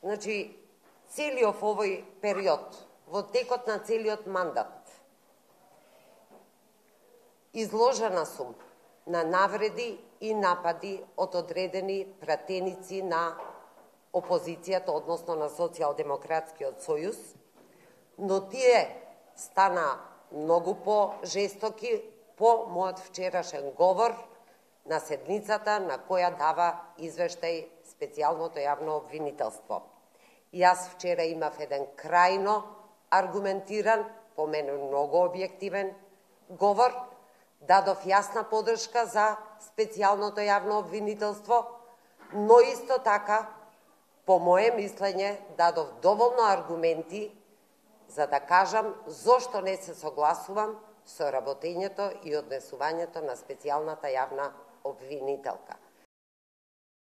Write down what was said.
Значи, целиот овој период, во текот на целиот мандат, изложена сум на навреди и напади од одредени пратеници на опозицијата, односно на Социјалдемократскиот сојуз, но тие стана многу по-жестоки по мојот вчерашен говор на седницата на која дава извештај специјалното јавно обвинителство. Јас вчера имав еден крајно аргументиран, по мене многу објективен говор, дадов јасна поддршка за специјалното јавно обвинителство, но исто така, по моје мислење, дадов доволно аргументи за да кажам зошто не се согласувам со работењето и однесувањето на специјалната јавна обвинителка.